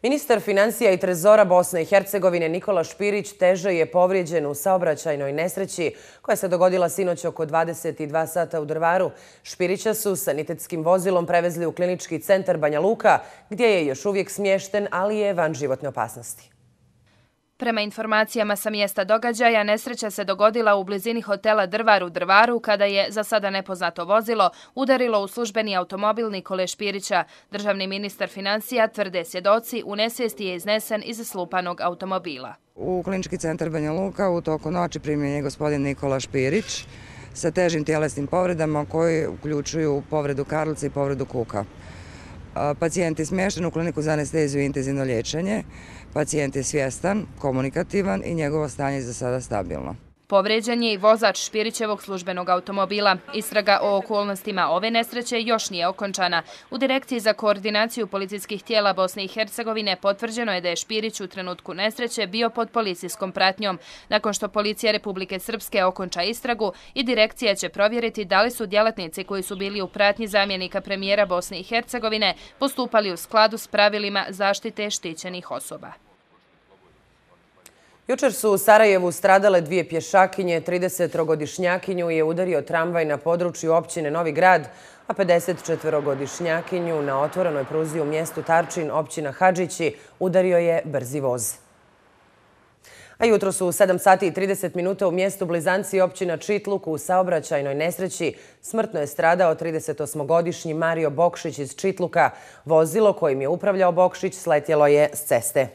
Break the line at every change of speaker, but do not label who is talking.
Ministar finansija i trezora Bosne i Hercegovine Nikola Špirić teže je povrijeđen u saobraćajnoj nesreći koja se dogodila sinoć oko 22 sata u Drvaru. Špirića su sanitetskim vozilom prevezli u klinički centar Banja Luka, gdje je još uvijek smješten, ali je van životne opasnosti.
Prema informacijama sa mjesta događaja, nesreća se dogodila u blizini hotela Drvar u Drvaru kada je, za sada nepoznato vozilo, udarilo u službeni automobil Nikole Špirića. Državni ministar finansija, tvrde svjedoci, u nesvijesti je iznesen iz slupanog automobila.
U klinički centar Banja Luka u toku noći primljen je gospodin Nikola Špirić sa težim tjelesnim povredama koji uključuju povredu karlice i povredu kuka. Pacijent je smješten u kliniku za anesteziju i intenzivno liječenje. Pacijent je svjestan, komunikativan i njegovo stanje je za sada stabilno.
Povrijeđen je i vozač Špirićevog službenog automobila. Istraga o okolnostima ove nesreće još nije okončana. U Direkciji za koordinaciju policijskih tijela Bosne i Hercegovine potvrđeno je da je Špirić u trenutku nesreće bio pod policijskom pratnjom. Nakon što Policija Republike Srpske okonča istragu, i direkcija će provjeriti da li su djelatnici koji su bili u pratnji zamjenika premijera Bosne i Hercegovine postupali u skladu s pravilima zaštite štićenih osoba.
Jučer su u Sarajevu stradale dvije pješakinje, 30-godišnjakinju je udario tramvaj na području općine Novi Grad, a 54-godišnjakinju na otvorenoj pruzi u mjestu Tarčin, općina Hadžići, udario je brzi voz. A jutro su u 7 sati i 30 minuta u mjestu Blizanci općina Čitluk u saobraćajnoj nesreći smrtno je stradao 38-godišnji Mario Bokšić iz Čitluka. Vozilo kojim je upravljao Bokšić sletjelo je s ceste.